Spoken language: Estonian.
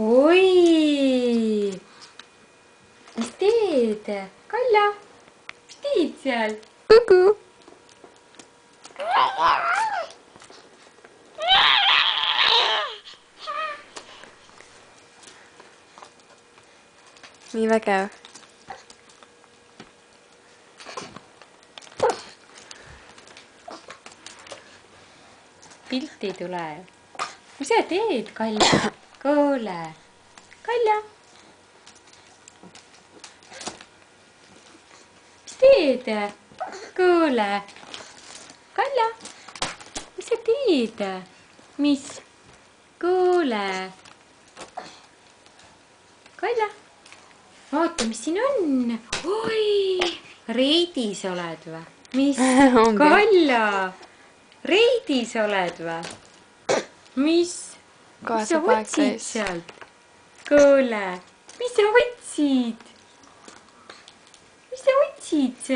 oi, mis teed? Kalja, mis teed seal? Kuku. Nii vägev. Pilti ei tule. Mis sa teed, Kalja? Kuule, Kalja. Mis teed? Kuule, Kalja. Mis sa teed? Mis? Kuule. Kalja. Vaata, mis siin on. Oi, reidis oled või? Mis? Kalja. Reidis oled või? Mis? Mis sa otsid sealt? Kuule, mis sa otsid? Mis sa otsid sealt?